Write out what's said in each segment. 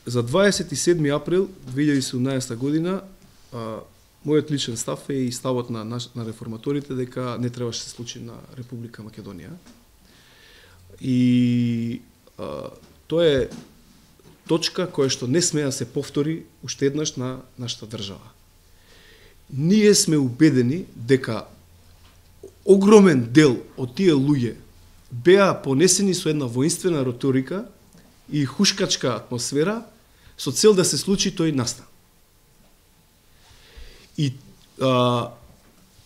за 27 април 2017 година мојот личен став е и ставот на реформаторите дека не требаше да се случи на Република Македонија. И тоа е точка која што не смее да се повтори уште еднаш на нашата држава. Ние сме убедени дека огромен дел од тие луѓе беа понесени со една воинствена риторика и хушкачка атмосфера со цел да се случи тој настан. И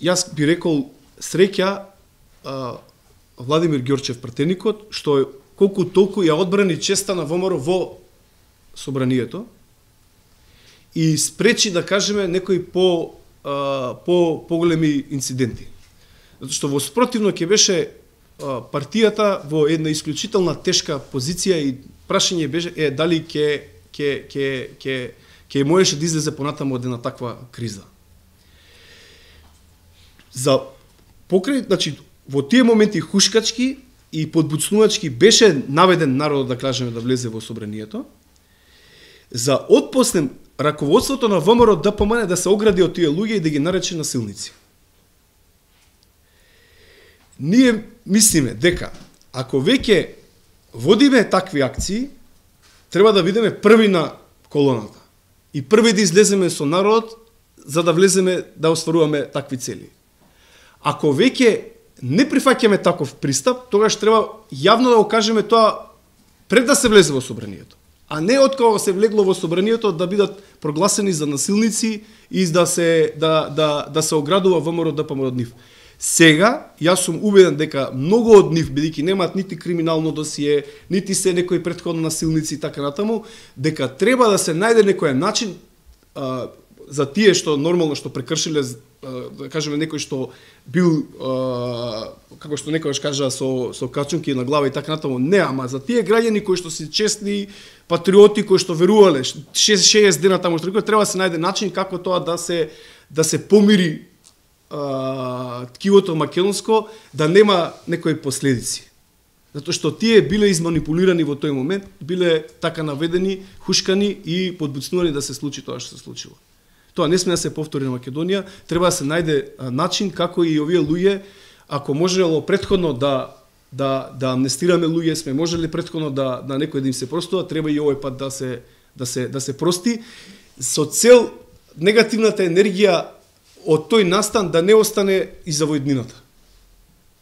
јас би рекол среќа Владимир Ѓорчев пратеникот, што колку толку ја одбрани честа на ВМРО во собранието и спречи, да кажеме, некои поголеми инциденти. Затоа што во спротивно ќе беше партијата во една исклучителна тешка позиција и прашање беше дали ќе можеше да излезе понатаму од една таква криза. За покрај, значи, во тие моменти хушкачки и подбуцнувачки беше наведен народот, да кажеме, да влезе во собранието. За отпосле раководството на ВМРО да помане да се огради од тие луѓе и да ги нарече насилници. Ние мислиме дека ако веќе водиме такви акции, треба да бидеме први на колоната и први да излеземе со народот за да влеземе да остваруваме такви цели. Ако веќе не прифаќаме таков пристап, тогаш треба јавно да го кажеме тоа пред да се влезе во собранието, а не откога се влегло во собранието да бидат прогласени за насилници и да се оградува ВМРО ДПМН од нив. Сега, јас сум убеден дека многу од нив, бидејќи немаат нити криминално досие, нити се некои претходно насилници и така натаму, дека треба да се најде некој начин за тие што нормално што прекршиле, да кажеме, некој што бил, како што некојаш кажа, со качунки на глава и така натаму, не, ама за тие граѓани кои што се честни патриоти, кои што верувале 60 дена таму што треба да се најде начин како тоа да се помири ткивото македонско, да нема некои последици. Затоа што тие биле изманипулирани во тој момент, биле така наведени, хушкани и подбуцнувани да се случи тоа што се случило. Тоа не сме да се повтори на Македонија, треба да се најде начин како и овие луѓе, ако можело претходно да амнестираме луѓе, сме можели претходно да некој да им се простува, треба и овој пат да се прости, со цел негативната енергија од тој настан да не остане и за војднината.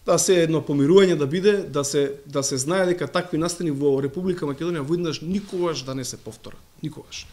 Да се едно помирување да биде, да се знае дека такви настани во Република Македонија војднаш никогаш да не се повторат. Никогаш.